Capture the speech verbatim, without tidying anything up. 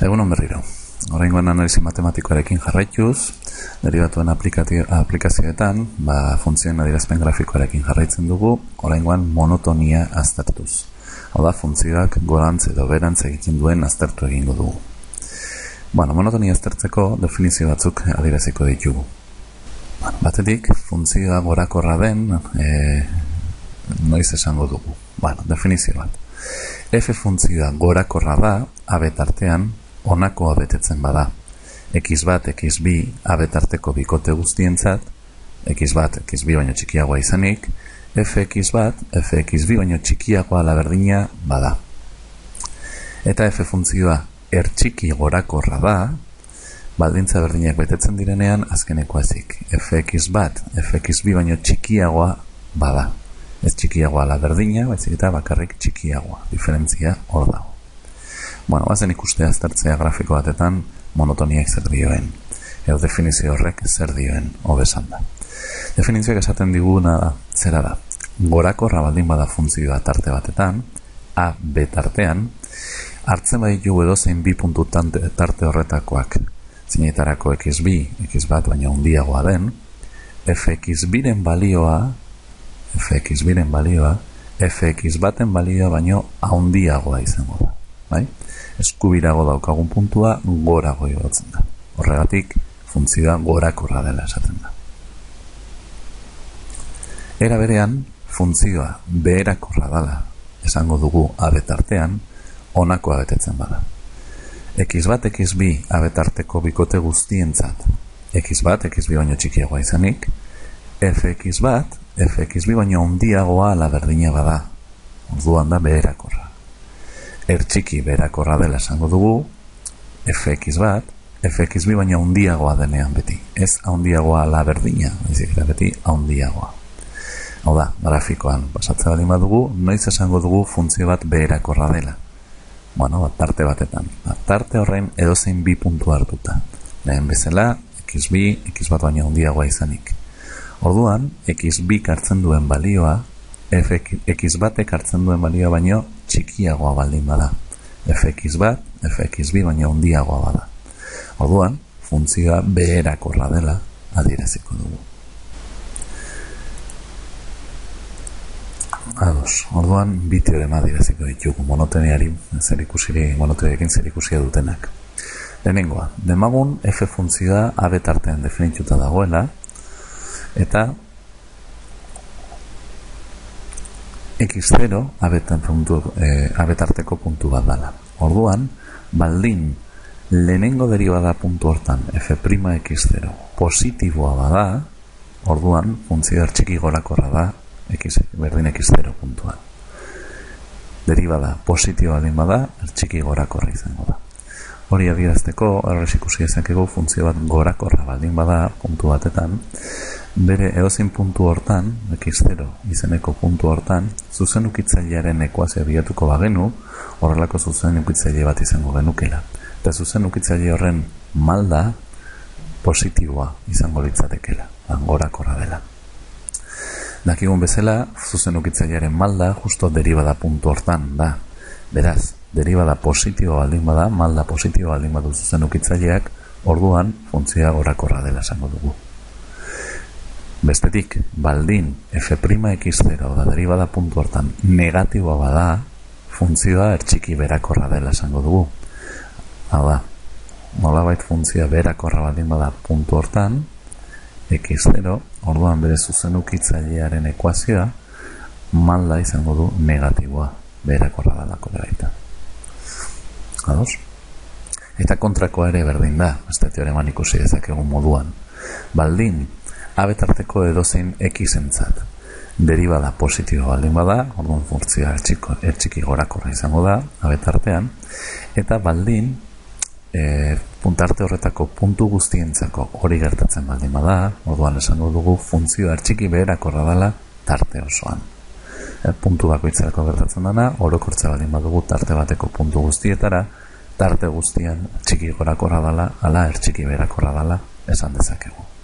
Egunon berriro. Oraingoan analisi matematikoarekin jarraituz, deribatuen aplikazioetan, ba, funtzioen adierazpen grafikoarekin jarraitzen dugu, oraingoan monotonia aztertuz. Hau da, funtzioak gorantz edo berantz egiten duen aztertu egingo dugu. Bueno, monotonia aztertzeko definizio batzuk adieraziko ditugu. Batetik, funtzioa gorakorra den, e, noiz esango dugu. Bueno, definizio bat. F funtzioa gorakorra da, abetartean, honako abetetzen bada. X bat, X bi abetarteko bikote guztientzat, X bat, X bi baino txikiagoa izanik, Fx bat, Fx bi baino txikiagoa laberdina bada. Eta F funtzioa ertxiki gorakorra da, baldintza berdinak betetzen direnean azkeneko ezik. Fx bat, Fx bi baino txikiagoa bada. Ez txikiagoa laberdina, baizik eta bakarrik txikiagoa. Diferentzia hor dago. Bueno, bazen ikustea aztertzea grafiko batetan monotoniak zer dioen, edo definizio horrek zer dioen, hobesan da. Definizioak esaten diguna da, zera da, gorakorra baldin bada funtzioa tarte batetan, A, B tartean, hartzen baditu edozein bi puntu tarte horretakoak, zinetarako X bi, X bat baina handiagoa den, Fx biren balioa, Fx biren balioa, Fx baten balioa baino handiagoa izango da. Bai? Eskubirago daukagun puntua gorago igotzen da. Horregatik, funtzioa gorakorra dela esaten da. Era berean, funtzioa beherakorra dela esango dugu abetartean, honako abetetzen bada. X bat, X bi abetarteko bikote guztientzat, X bat, X bi baino txikiagoa izanik, Fx bat, Fx bi baino handiagoa ala berdina bada. Orduan da beherakorra. Ertxiki beherakorra dela esango dugu, Fx bat, Fx bi baina handiagoa denean beti. Ez handiagoa ala berdina, baizik eta beti handiagoa. Hau da, grafikoan pasatzea baldin badugu, noiz esango dugu funtzio bat beherakorra dela. Bueno, bat tarte batetan. Bat tarte horrein edozein bi puntu hartuta. Lehen bezala, X bi, X bat baina handiagoa izanik. Orduan, X bi hartzen duen balioa, X batek hartzen duen balioa baino txikiagoa baldin bada. Fx bat, Fx bi baino handiagoa bada. Orduan, funtzioa beherakorra dela adieraziko dugu. Ados, orduan bi teorema adieraziko ditugu, monotoniari zerikusiri, monotoniarekin zerikusia dutenak. Lehenengoa, demagun F funtzioa abetartean definituta dagoela, eta X zero abetan puntu, e, abetarteko puntu bat dala. Orduan, baldin lehenengo derivada puntu hortan F' X zero positiboa bada, orduan funtzioa txiki gorakorra da X, berdin X zero puntuan. Derivada positiboa baldin bada, txiki gorakorra izango da. Hori adierazteko, horrez ikusi ezakegu funtzio bat gorakorra baldin bada puntu batetan, bere edozein puntu hortan, X zero izeneko puntu hortan, zuzenukitzailearen ekuazioa bilatuko bagenu, horrelako zuzenukitzaile bat izango genukela. Eta zuzenukitzaile horren malda positiboa izango litzatekela, gorakorra dela. Dakigun bezala, zuzenukitzailearen malda justo derivada puntu hortan da. Beraz, derivada positiboa baldin bada, malda positiboa baldin badu zuzenukitzaileak, orduan funtzioa gorakorra dela esango dugu. Bestetik, baldin F'X zero da derivada puntu hortan negatiboa bada, funtzioa ertxiki berakorra dela esango dugu. Hau da, nolabait funtzioa berakorra baldin bada puntu hortan, X zero, orduan bere zuzenukitzailearen ekuazioa, malda izango du negatiboa berakorra dalako baita. Ados? Eta kontrakoa ere berdin da, beste teoreman ikusi dezakegun moduan. Baldin abetarteko edozein X-entzat derivada positiboa baldin bada, orduan funtzioa ertxiki gorakorra izango da, abetartean, eta baldin e, puntarte horretako puntu guztientzako hori gertatzen baldin bada, orduan esango dugu funtzioa ertxiki beherakorra dela tarte osoan. E, puntu bakoitzarako gertatzen dena, orokortza baldin badugu tarte bateko puntu guztietara, tarte guztian ertxiki gorakorra dela, ala ertxiki beherakorra dela esan dezakegu.